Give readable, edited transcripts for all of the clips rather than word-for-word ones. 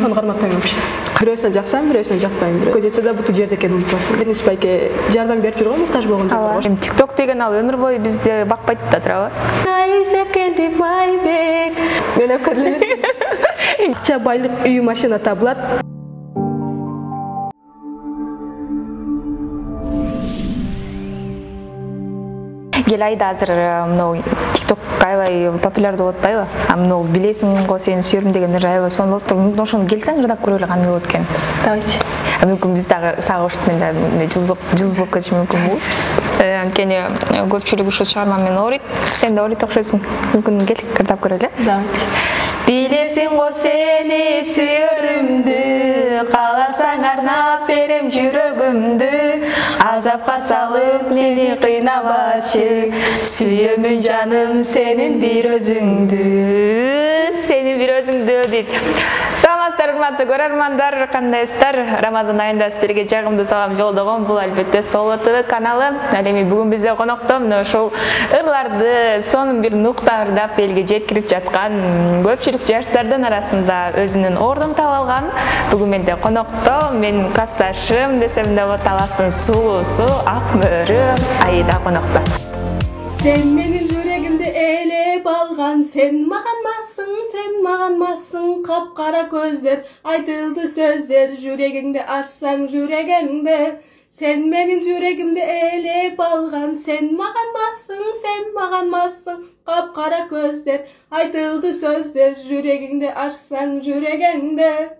Аны карматпайм вообще. Бирөөсүн жаксам, бирөөсүн жакпайм. Көз жетсе да буту жерде экенин унутпасын. Биринчи байке жардам берип жүргөн муктаж болгон жактар. TikTok деген ал өмүр бою бизди бакпайт да туурабы? Издеп келди байбек. Мен өкөрүл эмесмин. Акча, байлык, үй, машина табылат. Гелайда азыр мынау TikTok аябай популярдуу болуп атпайбы? А мынау билесиң го сени сүйөрүм деген аябай сонун болуп тур. Ошону келсең ырдап көрө эле кандай болот экен. Давайте. Мүмкүн биз дагы сага ошентип менен жылыз болуп кетиши мүмкүн бул. Анткени көпчүлүк ушул чыгарма менен ооройт. Сен да ооройт окшойсуң. Мүмкүн кел ырдап көрө эле. Давайте. Билесиң го сени сүйөрүмдү, кааласаң арнап берем жүрөгүмдү, азапка салып мени кыйнабачы, сүйөмүн жаным сенин бир өзүңдү, сенин бир өзүңдү дейт. Саламатсыздар урматтуу көрөрмандар, кандайсыздар? Рамазан айында сиздерге жагымдуу салам жолдогон бул албетте Соло ТВ каналы. Ал эми бүгүн бизде конокто мына ушул ырларды сонун бир нукта ырдап элге жеткирип жаткан көпчүлүк жаштардын арасында өзүнүн ордун таап алган. Бүгүн менде конокто менин классташым десем да болот, Таластын сулуусу Ак Мөрү Аида конокто. Сен менин жүрөгүмдү ээлеп алган, сен маганмасың, капкара көздөр, айтылды сөздөр, жүрөгүңдү ачсаң жүрөгүңдү. Сен менин жүрөгүмдү ээлеп алган, сен маганмасың, капкара көздөр, айтылды сөздөр, жүрөгүңдү ачсаң жүрөгүңдү.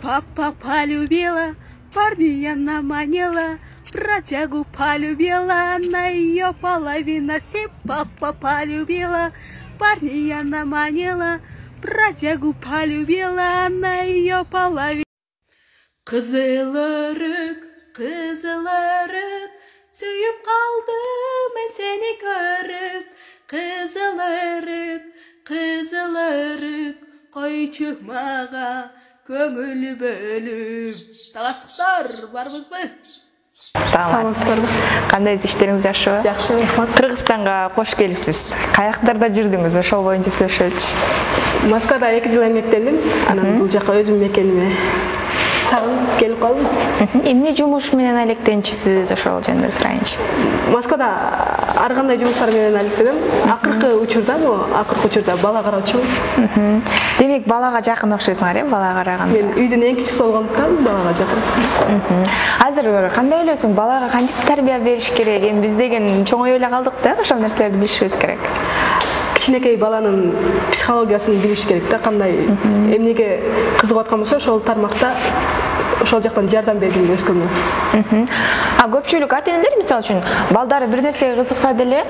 Папа полюбила, парня наманила, протягу полюбила, на ее половина. Папа полюбила, парня наманила, протягу полюбила, на ее половина. Кызыл өрүк, сүйүп калдым мен сени көрүп. Кызыл өрүк, койчу мага көңүл бөлүп. Таластыктар, барбызбы? Саламатсыздарбы? Кандайсыз, иштериңиз жакшыбы? Жакшы, рахмат. Кыргызстанга кош келипсиз. Каяктарда жүрдүңүз? Ошол боюнча сүйлөшөлүчү. Москвада 2 жыл эмгектендим. Анан бул жака өзүм мекениме сагынып келип калдым. Эмне жумуш менен алектенчүсүз, ошол жөнүндө сурайынчы. Москвада ар кандай жумуштар менен алектенем. Акыркы учурда бала караучумун. Демек балага жакын окшойсуңар, бала караганда. Мен үйдүн эң кичүүсү болгондуктан балага жакын. Азыр кандай ойлойсуң, балага кантип тарбия бериш керек? Эми биз деген чоңой эле калдык да, ошол нерселерди билишибиз керек. Кичинекей баланын психологиясын билиш керек да, кандай эмнеге кызыгып аткан болсо ошол тармакта ошол жактан жардам бергенге өскөнгө. А көпчүлүк ата-энелер мисалы үчүн балдары бир нерсеге кызыкса деле,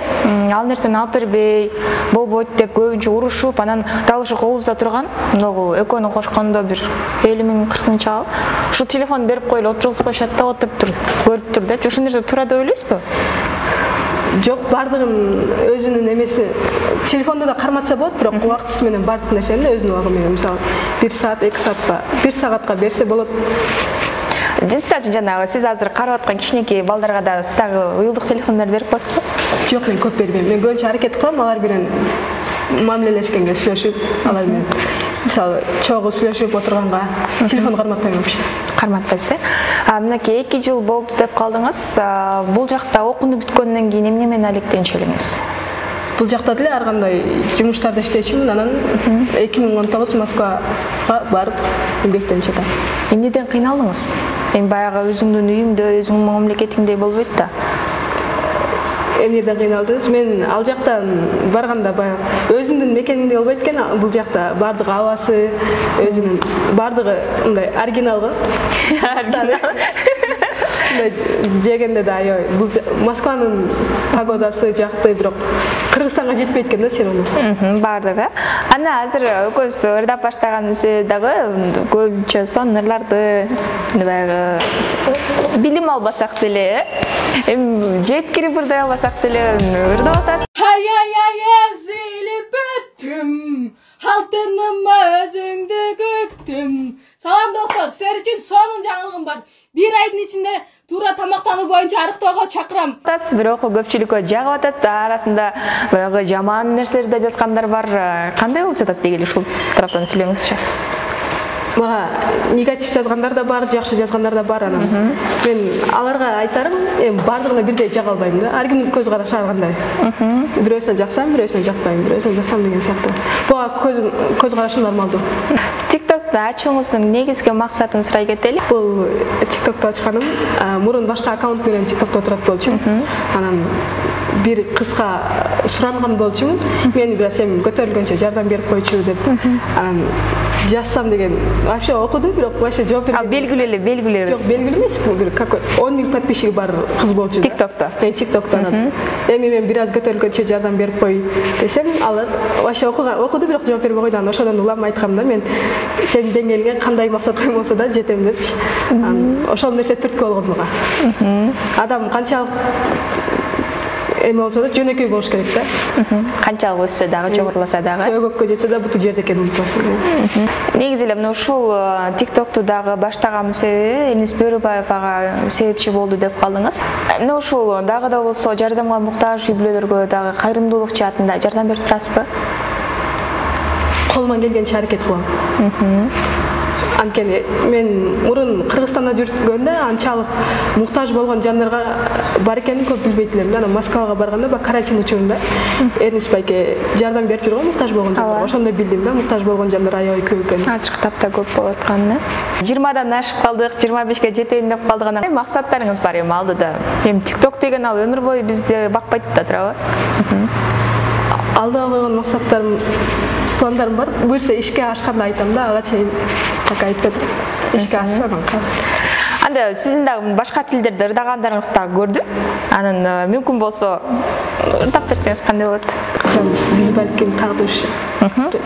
ал нерсени алып бербей, болбойт деп көбүнчө урушуп, анан дал ошо колубузда турган, могу экөөнү кошкондо бир 50 000 40 000 чал. Ушу телефон берип коелу, отургузуп коюшат да, отуруп тур, көрүп тур деп. Ошол нерсе туура деп ойлойсузбу? Жок, бардыгын өзүнүн эмеси. Телефонду да карматса болот, бирок убактысы менен бардык нерсени өзүнүн убагы менен, мисалы 1 саат, 2 саатка, 1 сагатка берсе болот. Мисалы үчүн жанагы сиз азыр карап аткан кичинекей балдарга да сиз дагы уюлдук телефондорду берип коесузбу? Жок, мен көп бербейм. Мен көбүнчө аракет кылам алар менен мамилелешкенге, сүйлөшүп, алар менен мисалы чогуу сүйлөшүп отурганга телефон карматпайм вообще. Карматпайсыз. Мынакей 2 жыл болду деп калдыңыз. Бул жакта окууну бүткөндөн кийин эмне менен алектенчү элеңиз? Бул жакта деле ар кандай жумуштарда иштечүмүн, анан 2019 Москвага барып эмгектенип жатам. Эмнеден кыйналдыңыз? Эми баягы өзүңдүн үйүңдө, өзүңдүн мамлекетиңдей болбойт да. Эмнеден кыйналдыңыз? Мен ал жактан барганда баягы өзүңдүн мекениңдей болбойт экен. Бул жакта бардыгы абасы, өзүнүн бардыгы мындай оригиналгы. Жегенде да аябай. Бул Москванын погодасы жакты, бирок Кыргызстанга жетпейт экен да серуну. Бардыгы. Ана азыр экөөбүз ырдап баштаганыбыз дагы көбүнчө сонун ырларды баягы билим албасак деле, жеткирип ырдай албасак деле ырдап атасыз. Ай-ай-ай, эзилип бүттүм, алтыным өзүңдү күттүм. Салам достор, силер үчүн сонун жаңылыгым бар. 1 айдын ичинде туура тамактануу боюнча арыктоого чакырам. Бирок көпчүлүккө жагып атат, арасында баягы жаман нерселерди да жазгандар бар. Кандай болуп жатат дегиле ушул тараптан сүйлөңүзчү. мага негатив жазгандар да бар, жакшы жазгандар да бар. Анан мен аларга айтарым, эми бардыгына бирдей жага албайм да. Ар кимдин көз карашы ар кандай. Бирөөсүнө жаксам, бирөөсүнө жакпайм, бирөөсүнө жаксам деген сыяктуу. Буга көз карашым нормалдуу. TikTok'та ачууңуздун негизги максатын сурай кетели. Бул TikTok'та ачканым мурун башка аккаунт менен TikTok'та отурат болчумун. Анан бир кызга суранган болчумун. Мени бир сен көтөрүлгөнчө жардам берип койчу деп. Анан жазсам деген вообще окуду, бирок вообще жооп берди. Белгилүү эле. Жок, белгилүү эмес. Бир 10 000 подписчиги бар кыз болчу. TikTok'та. TikTok'та. Эми мен бир аз көтөрүлгөнчө жардам берип кой десем, алар вообще окуду, бирок жооп бербей койду. Анан ошодон улам айткам да, мен сенин деңгээлиңе кандай максат коймосо да жетем депчи. Ошол нерсе түрткү болгон мага. Адам канчалык эми болсо да жөнөкөй болуш керек да. Канчалык өссө дагы, жогоруласа дагы. Көккө жетсе да буту жерде экенин унутпасын. Негизи эле мына ушул TikTok'ту дагы баштаган себеби Элнис Бөрүбаев ага себепчи болду деп калдыңыз. Мына ушул дагы да болсо жардамга муктаж үй-бүлөлөргө дагы кайрымдуулук жаатында жардам берип турасызбы? Колуман келгенче аракет кылам. Анткени мен мурун Кыргызстанда жүргөндө анчалык муктаж болгон жандарга бар экенин көп билбейт элем да. Анан Москвага барганда бак карантин учурунда Эрнис байке жардам берип жүргөн муктаж болгон жандар. Ошондо билдим да, муктаж болгон жандар аябай көп экенин. Азыркы тапта көп болуп атканын. 20дан ашып калдык, 25ке жетейин деп калдык. Анан максаттарыңыз бар эми алдыда. Эми TikTok деген ал өмүр бою бизди бакпайт да туурабы? Алдыга койгон максаттарым, пландарым бар. Буюрса ишке ашканда айтам да, ага чейин так айтпадым. Ишке ашса анан калат. Анда сиздин дагы башка тилдерде ырдагандарыңызды дагы көрдүм. Анан мүмкүн болсо ырдап берсеңиз кандай болот? Биз балким тагдыршы.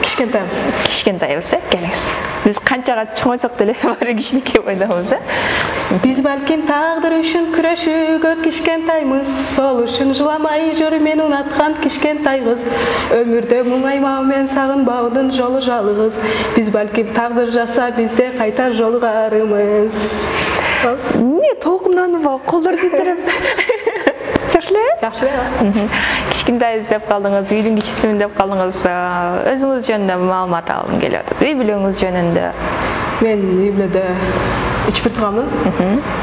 Кичкентайбыз, келиңиз. Биз канчага чоңойсок деле баары кичинекей бойдобуз, Биз балким тагдыр үчүн күрөшүүгө кичкентаймыз. Сол үчүн жыламай жүр мен унаткан кичкентай кыз. Өмүрдө муңаймау мен сагынбаудун жолу жалгыз. Биз балким тагдыр жазса бизде кайтар жолугарымыз. Не толкунданып колдор тийтерип. Жакшы эле? Жакшы эле. Кичкентайбыз деп калдыңыз, үйдүн кичисимин деп калдыңыз. Өзүңүз жөнүндө маалымат алгым келип атат. Үй бүлөңүз жөнүндө. Мен үй бүлөдө 3 бир тууганмын.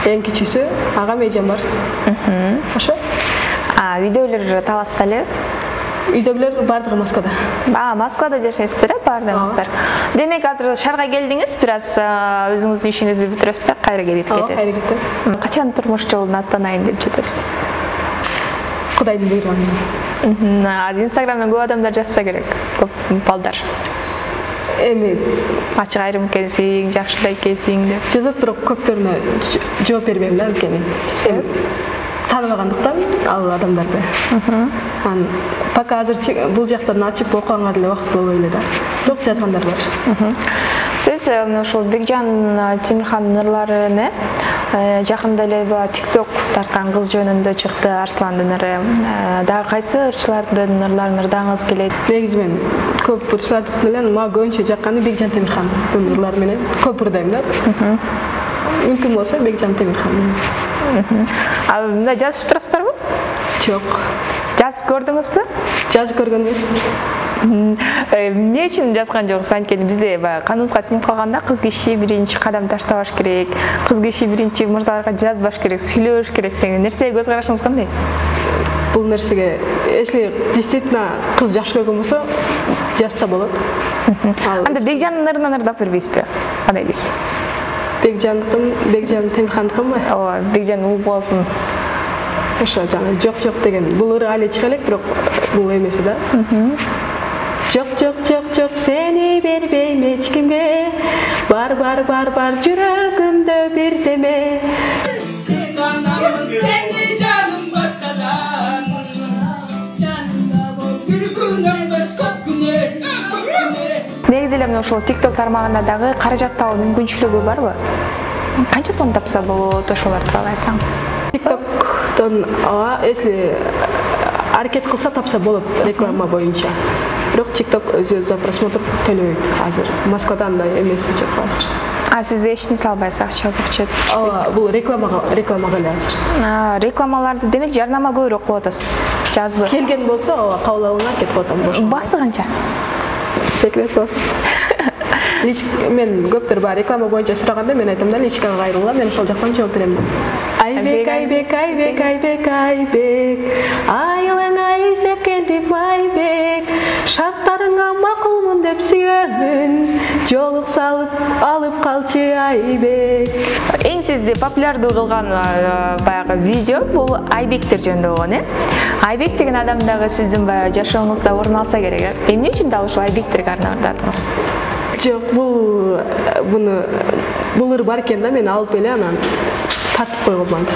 Эң кичүүсү агам эжем бар. Ошо. Үйдөгүлөр Таласта эле? Үйдөгүлөр бардыгы Москвада. Москвада жашайсыздар, бардыгыңыздар. Демек азыр шаарга келдиңиз, бир аз өзүңүздүн ишиңизди бүтүрөсүз, кайра келип кетесиз. Кайра кетем. Качан турмуш жолун аттанайын деп жатасыз? Кудайдын буйругу менен. Инстаграмдан көп адамдар жазса керек, көп балдар. Эми ачык айрым экенсиң, жакшы да экенсиң деп жазат, бирок көптөрүнө жооп бербейм да, анткени тааныбагандыктан ал адамдарды. Пока азыр бул жактан ачып окуганга деле убакыт болбой эле да. Бирок жазгандар бар. Сиз ошол Бекжан Темирхандын ырларыны жакында эле TikTok тарткан кыз жөнүндө чыкты, Арсландын ыры. Дагы кайсы ырчылардын ырларын ырдагыңыз келет? Негизи мен көп ырчылардын менен мага көбүнчө жакканы Бекжан Темирхандын ырлары менен көп ырдайм да. Мүмкүн болсо Бекжан Темирхан. Мында жазышып турасыздарбы? Жок. Жазып көрдүңүзбү? Жазып көргөн эмес. Эмне үчүн жазган жоксуз? Анткени бизде каныбызга сиңип калганда кыз киши биринчи кадам таштабаш керек, кыз киши биринчи мырзаларга жазбаш керек, сүйлөш керек деген нерсеге көз карашыңыз кандай? Бул нерсеге если действительно кыз жакшы көргөн болсо жазса болот. Анда Бекжандын ырынан ырдап бербейсизби? Кандай дейсиз? Бекжан Темирхандыкынбы? Ооба, Бекжан угуп алсын. Ошо жана жок деген. Бул ыры али чыга элек, бирок бул эмеси да. Жок сени бербейм эч кимге. Бар жүрөгүмдө бирдеме. Сен анамын, сени жаным башкадан. Жанымда бол бир күнүң без көп күнөр. Негизи эле ошол TikTok тармагында дагы каражат табуу мүмкүнчүлүгү барбы? Канча сом тапса болот, ошолор тууралуу айтсаң? TikToktон если аракет кылса тапса болот реклама боюнча. Бирок TikTok өзү за просмотр төлөйт азыр. Москвада андай эмеси жок азыр. Сиз эчиңиз албайсыз, акча берчү. Бул рекламага эле азыр. Рекламаларды демек жарнама көбүрөөк кылып атасыз. Жазбы. Келген болсо кабыл алууга аракет кылып атам. Басы канча? Секрет болсун. Мен көптөр бар реклама боюнча сураганда мен айтам да личкага кайрылгыла, мен ошол жактан жооп берем деп. Айбек, айбек, айбек, айбек, айбек. Айылыңа издеп келдим айбек. Шарттарыңа макулмун деп сүйөмүн. Жолук салып алып калчы айбек. Эң сизди популярдуу кылган баягы видео бул айбектер жөнүндө болгон, э? Айбек деген адам дагы сиздин баягы жашооңузда орун алса керек, э? Эмне үчүн дал ушул айбектерге арнадыңыз? Жок, бул ыр бар экен да, мен алып эле анан тартып койгонмун.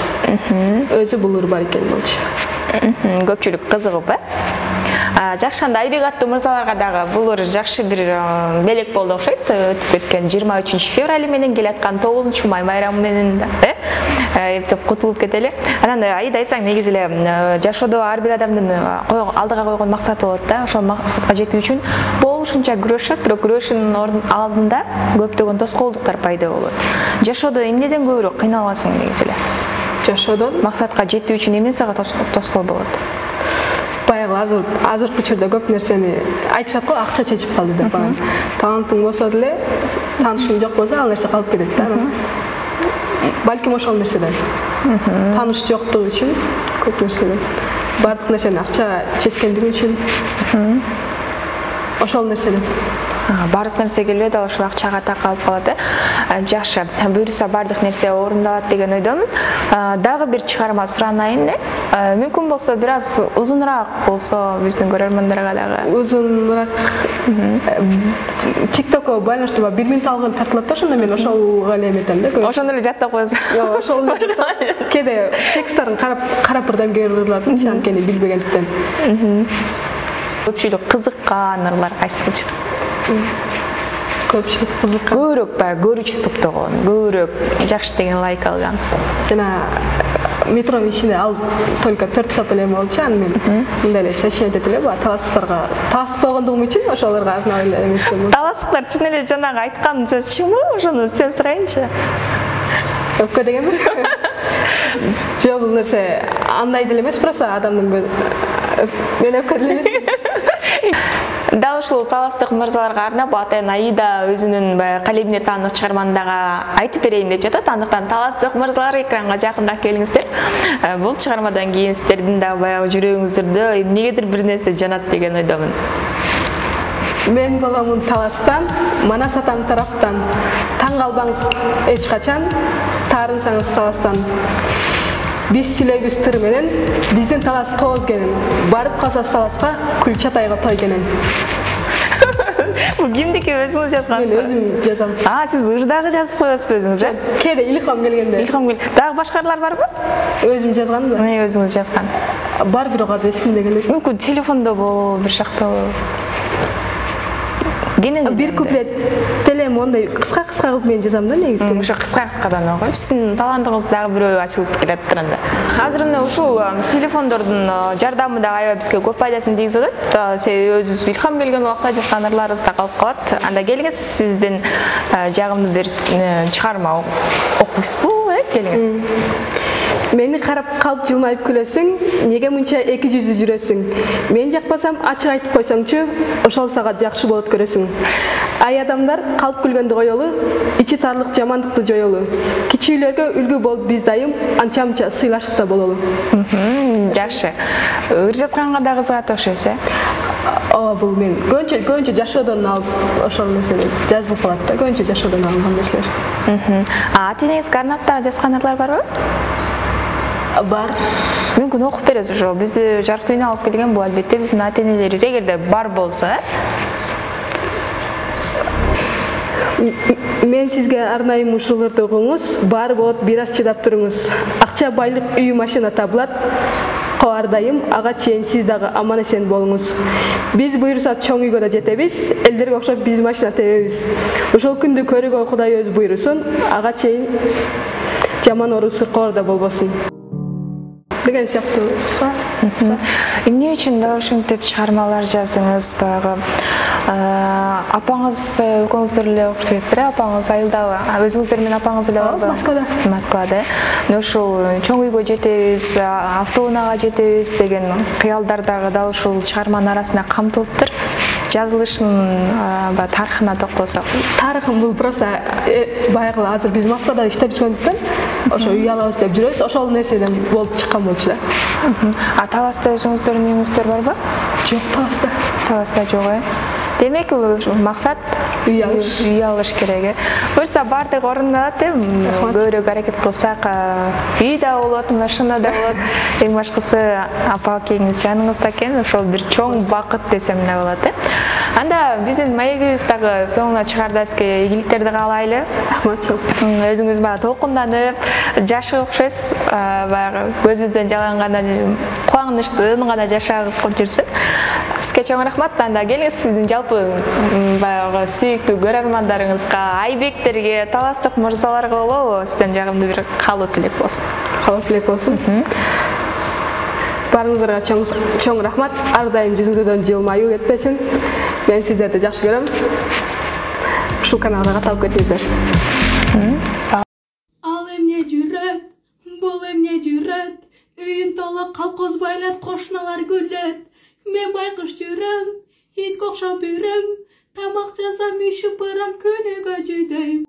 Өзү бул ыр бар экен болчу. Көпчүлүк кызыгып, э? Жакшы, анда Айбек аттуу мырзаларга дагы бул ыр жакшы бир белек болду окшойт. Өтүп кеткен 23 февраль менен келаткан 9 май байрамы менен, э? Эптеп кутулуп кетели. Анан Аида айтсаң, негизи эле жашоодо ар бир адамдын алдыга койгон максаты болот да. Ошол максатка жетүү үчүн болушунча күрөшөт, бирок күрөшүүнүн алдында көптөгөн тоскоолдуктар пайда болот. Жашоодо эмнеден көбүрөөк кыйналасың негизи эле? Жашоодон Максатка жетүү үчүн эмне сага тоскоол болот? Баягы азыркы учурда көп нерсени айтышат го, акча чечип калды деп. Талантың болсо деле, таанышың жок болсо, ал нерсе калып кетет да. Балким ошол нерседен. Тааныш жоктугу үчүн көп нерседен. Бардык нерсени акча чечкендиги үчүн. Ошол нерседен. Бардык нерсе келбей дагы ошол акчага такалып калат, э? Жакшы, буюрса бардык нерсе орундалат деген ойдомун. Дагы бир чыгарма суранайын, э? Мүмкүн болсо бир аз узунураак болсо биздин көрөрмандарга дагы. Узунураак. TikTokко байланыштуу 1 минут алган тартылат да, ошондо мен ошолго эле эметем да. Ошондо эле жаттап коесуз. Жок, ошол кээде тексттарын карап бирден көрүлөт, анткени билбегендиктен. Көпчүлүк кызыккан ырлар кайсысы? Көпчүлүк кызыккан. Көбүрөөк баягы көрүүчү топтогон, көбүрөөк жакшы деген лайк алган. Жана метронун ичинде ал только 4 сап эле болчу, анан мен мындай эле сочинять этип эле таластыктарга таласып койгондугум үчүн ошолорго арнап эле эметтим. Таластыктар чын эле жанагы айткан сөз чынбы? Ошону сизден сурайынчы. Өпкө дегенби? Жок, бул нерсе андай деле эмес, просто адамдын мен өпкө деле эмес. Дал ушул таластык мырзаларга арнап атайын Аида өзүнүн баягы калемине таанык чыгарманы дагы айтып берейин деп жатат. Андыктан таластык мырзалар экранга жакындап келиңиздер. Бул чыгармадан кийин сиздердин дагы баягы жүрөгүңүздөрдө эмнегедир бир нерсе жанат деген ойдомун. Мен боломун таластан, Манас атам тараптан. Таң калбаңыз эч качан, таарынсаңыз таластан. Биз сүйлөйбүз тыр менен, биздин талас кооз кенен. Барып калсас таласка, күл чатайга той кенен. Бул кимдики, өзүңүз жазгансызбы? Мен өзүм жазам. Сиз ырдагы жазып коесузбу өзүңүз, э? Кээде илхам келгенде. Дагы башкалар барбы? Өзүм жазганмын. Өзүңүз жазган. Бар, бирок азыр эсимде келбейт. Мүмкүн телефондо болобу, бир жакта болобу? Бир куплет телем ондай кыска кылып мен жазам да негизи. Ошо кыска-кыскадан окуйм. Сиздин талантыңыз дагы бирөө ачылып келет турганда. Азыр мына ушул телефондордун жардамы дагы аябай бизге көп пайдасын тийгизип атат. Себеби өзүбүз илхам келген убакта жазган ырларыбыз да калып калат. Анда келиңиз, сиздин жагымдуу бир чыгарма окуйсузбу, э? Келиңиз. Мени карап калып жылмайып күлөсүң, неге мынча эки жүздүү жүрөсүң? Мен жакпасам ачык айтып койсоңчу, ошол сага жакшы болот көрөсүң. Ай адамдар калып күлгөндү коелу, ичи тарлык жамандыкты жоелу. Кичүүлөргө үлгү болуп биз дайым, анча-мынча сыйлашып да бололу. Жакшы. Ыр жазганга да кызыгат окшойсуз, э? Ооба, бул мен көбүнчө жашоодон алып ошол нерселер жазылып калат да, көбүнчө жашоодон алынган нерселер. Ата-энеңизге арнап дагы жазган ырлар барбы? Бар. Мүмкүн окуп бересиз ошо. Бизди жарык дүйнө алып келген бул албетте биздин ата-энелерибиз, эгерде бар болсо, Мен сизге арнайым ушул ырды угуңуз, бар болот, бир аз чыдап туруңуз. Акча, байлык, үй, машина табылат. Ар дайым ага чейин сиз дагы аман эсен болуңуз. Биз буйрса чоң үйгө да жетебиз, элдерге окшоп биз машина тебебиз. Ошол күндү көрүүгө Кудай өз буйрусун, ага чейин жаман ору сыркоор да болбосун. Деген сыяктуу кыска. Эмне үчүн да ушинтип чыгармалар жаздыңыз? Баягы апаңыз, экөөңүздөр эле окуйсуздар, апаңыз айылдабы? Өзүңүздөр менен апаңыз эле барбы? Москвада. Москвада. Ушул чоң үйгө жетебиз, автоунаага жетебиз деген кыялдар дагы дал ушул чыгарманын арасында камтылыптыр. жазылышынын тарыхына токтолсок. Тарыхым бул просто баягы азыр биз Москвада иштеп жүргөндүктөн ошо үй алабыз деп жүрөбүз. Ошол нерседен болуп чыккан болчу да. Таласта өзүңүздөрдүн үйүңүздөр барбы? Жок, Таласта. Таласта жок, Демек, максат үй алыш керек. Буюрса баардыгы орундалат, көбүрөөк аракет кылсак, үй да болот, машина да болот. Эң башкысы апа акеңиз жаныңызда экен, ошол бир чоң бакыт десем эле болот. Анда биздин маегибиз дагы соңуна чыгарда сизге ийгиликтерди каалайлы. Рахмат. Өзүңүз баягы толкунданып, жашыгып окшойсуз, баягы көзүңүздөн жаланганда кубанычтуу гана жашап жүрсүн. Сизге чоң рахмат. Анда келиңиз сиздин жалпы баягы сүйүктүү көрөрмандарыңызга, айбектерге, таластык мырзаларга болобу сизден жагымдуу бир каалоо тилек болсун. Каалоо тилек болсун. Баарыңыздарга чоң рахмат. Ар дайым жүзүңүздөн жылмаюу кетпесин. Мен сиздерди жакшы көрөм. Ушул каналга каталып кетиңиздер. Ал эмне жүрөт, бул эмне жүрөт, үйүн толо калкозбайлар, кошуналар күлөт. Мен байкуш жүрөм, итке окшоп үрөм, тамак жасам, үй шыпырам, күнүгө жүйдөйм.